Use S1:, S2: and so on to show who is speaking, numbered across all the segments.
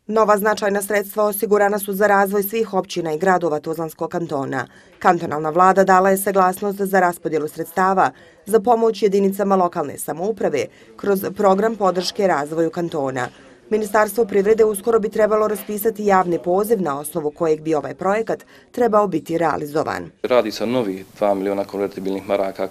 S1: Nova značajna sredstva osigurana su za razvoj svih općina i gradova Tuzlanskog kantona. Kantonalna vlada dala je saglasnost za raspodjelu sredstava za pomoć jedinicama lokalne samouprave kroz program podrške razvoju kantona. Ministarstvo privrede uskoro bi trebalo raspisati javni poziv na osnovu kojeg bi ovaj projekat trebao biti realizovan.
S2: Radi se o novih 2 miliona konvertibilnih maraka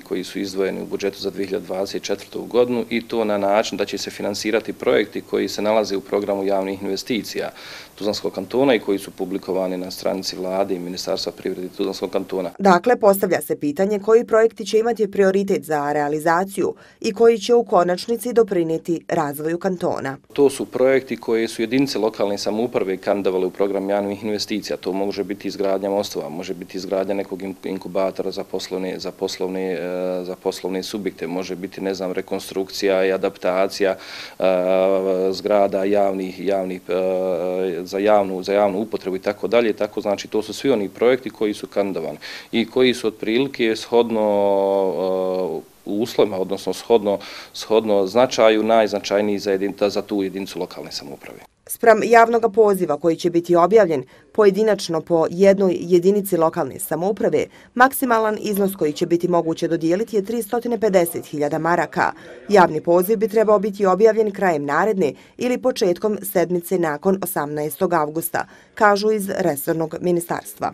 S2: koji su izdvojeni u budžetu za 2024. godinu i to na način da će se finansirati projekti koji se nalaze u programu javnih investicija Tuzlanskog kantona i koji su publikovani na stranici vlade i Ministarstva privrede Tuzlanskog kantona.
S1: Dakle, postavlja se pitanje koji projekti će imati prioritet za realizaciju i koji će u konačnici doprinijeti razvoju kantona.
S2: To su projekti koje su jedinice lokalne samouprave kandidovale u program javnih investicija. To može biti izgradnja mostova, može biti izgradnja nekog inkubatora za poslovne subjekte, može biti, ne znam, rekonstrukcija i adaptacija zgrada za javnu upotrebu i tako dalje. Tako znači to su svi oni projekti koji su kandidovani i koji su otprilike shodno u uslovima, odnosno shodno značaju najznačajniji za tu jedinicu lokalne samouprave.
S1: Spram javnog poziva koji će biti objavljen pojedinačno po jednoj jedinici lokalne samouprave, maksimalan iznos koji će biti moguće dodijeliti je 350.000 maraka. Javni poziv bi trebao biti objavljen krajem naredne ili početkom sedmice nakon 18. avgusta, kažu iz resornog ministarstva.